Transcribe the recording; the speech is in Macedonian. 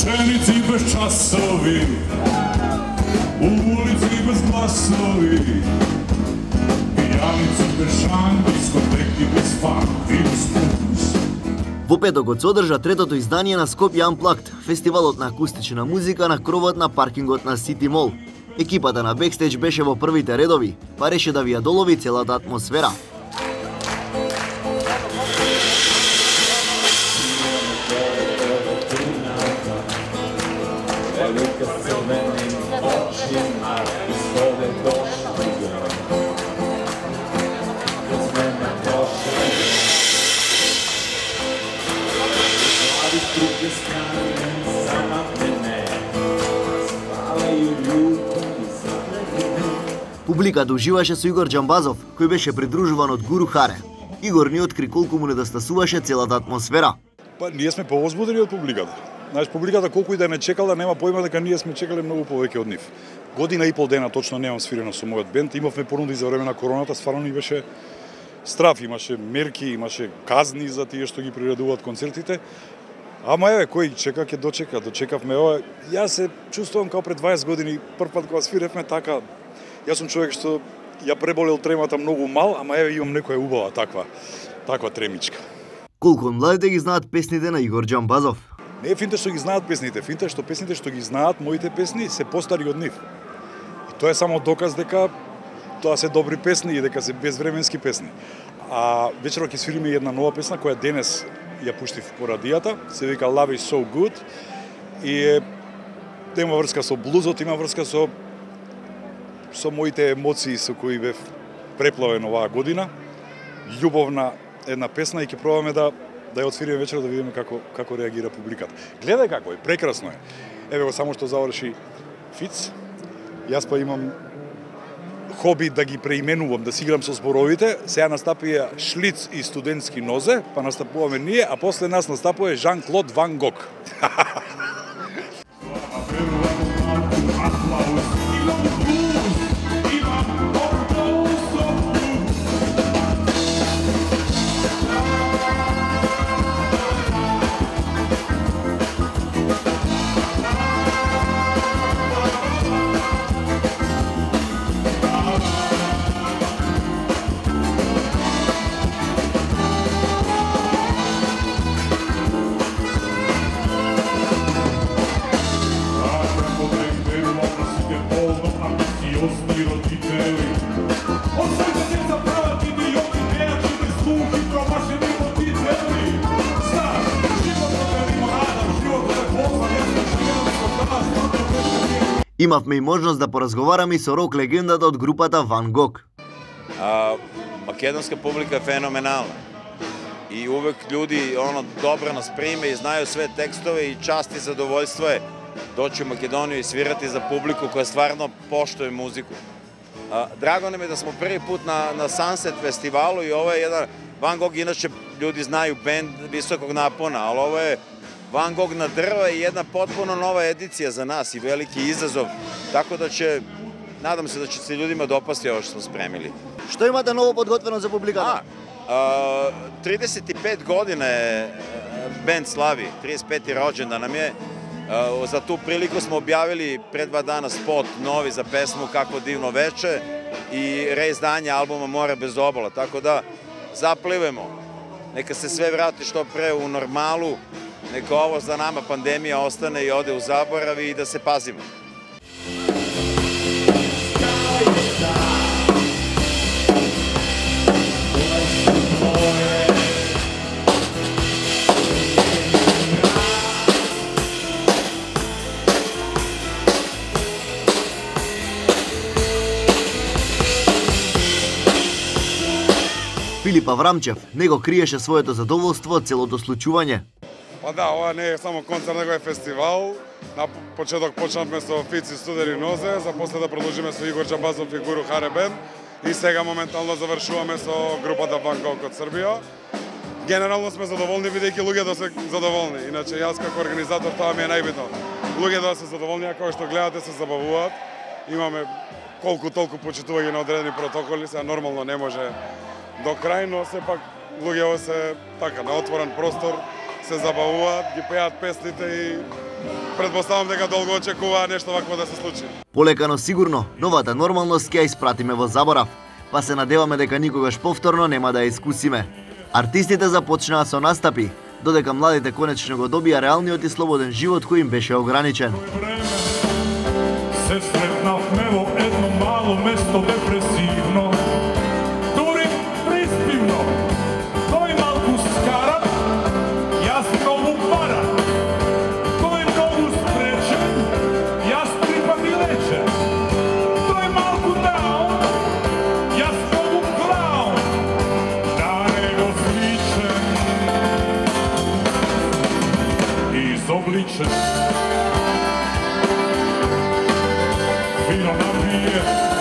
Ученици без часови, улици без гласови, пијаници без шан, дискотеки без фан и без пулс. Во петокот се одржа третото издание на Скопје Unplugged, фестивалот на акустична музика на кровот на паркингот на Сити Мол. Екипата на Бекстејдж беше во првите редови, па реше да ви ја долови целата атмосфера. Публиката уживаше со Игор Џамбазов, кој беше придружуван од Гуру Харе. Игор ни откри колку му недостасуваше целата атмосфера. Па ние сме повозбудени од публиката. Знаеш, публиката колку и да не чекала, нема појма дека ние сме чекале многу повеќе од нив. Година и пол дена точно немам свирено со мојот бенд, имавме понуди за време на короната, стварно ни беше страф, имаше мерки, имаше казни за тие што ги приредуваат концертите. Ама еве, кој чека ќе дочека, дочекавме ова. Јас се чувствувам како пред 20 години, прв пат кога свиревме така. Јас сум човек што ја преболел тремата многу мал, ама еве имам некоја убава таква тремичка. Колку од младите ги знаат песните на Игор Џамбазов? Не е финте што ги знаат песните, финте што песните што ги знаат, моите песни, се постари од нив. И тоа е само доказ дека тоа се добри песни и дека се безвременски песни. А вечерот ќе свириме една нова песна која денес ја пуштив по радијата, се вика Love is so good и има врска со блузот, има врска со моите емоции со кои бев преплавен оваа година. Љубовна една песна и ќе пробаме да ја отвириме вечерот да видиме како реагира публиката. Гледај како е, прекрасно е. Еве го само што заврши Фиц. Јас па имам хоби да ги преименувам, да си играм со зборовите. Сега настапија Шлиц и студентски нозе, па настапуваме ние, а после нас настапува Жан-Клод Ван Гог. Имавме и можност да поразговараме и со рок легендата од групата Ван Гог. Македонска публика е феноменална. И увек луѓи добро нас приме и знају све текстове и част и задоволство е дојти у Македонија и свирати за публику која стварно поштуе музику. Драго нам е да смо први пут на Сансет фестивалу и ова е еден Ван Гог, иначе луѓи знају бенд високог напона, ali ovo je Van Gogh na drva i jedna potpuno nova edicija za nas i veliki izazov, tako da će, nadam se da će se ljudima dopasti ovo što smo spremili. Што имате ново подготвено за публиката? 35 godina je bend slavi, 35. rođendan nam je. Za tu priliku smo objavili pre 2 dana spot novi za pesmu Kako divno veče i reizdanje albuma More bez obala, tako da zaplivemo. Neka se sve vrati što pre u normalu, neka ovo za nama pandemija ostane i ode u zaborav i da se pazimo. Филип Аврамчев него криеше своето задоволство од целото случување. Па да, ова не е само концерт, него е фестивал. На почеток почнавме со Фици Студени нозе, за после да продолжиме со Игор Џамбазов и Гуру Харе бенд и сега моментално завршуваме со групата Ван Гог од Србија. Генерално сме задоволни бидејќи луѓето се задоволни. Иначе јас како организатор тоа ми е најбитно. Луѓето да се задоволни, а кога што гледате се забавуваат. Имаме колку толку почитување на одредени протоколи, сега нормално не може до крај, но сепак луѓето се така на отворен простор, се забавуваат, ги пеат песните и Предпоставам дека долго очекува нешто вакво да се случи. Полека но сигурно, новата нормалност ќе ја испратиме во заборав, па се надеваме дека никогаш повторно нема да ја искусиме. Артистите започнаа со настапи, додека младите конечно го добија реалниот и слободен живот кој им беше ограничен. Се сретнавме во едно мало место депресивно, дури приспивно. Тој малку скара, јас многу пара. Тој многу спречен, јас три пати лечен. Тој малку даун, јас многу клаун. На него сличен, изобличен. Fino na vie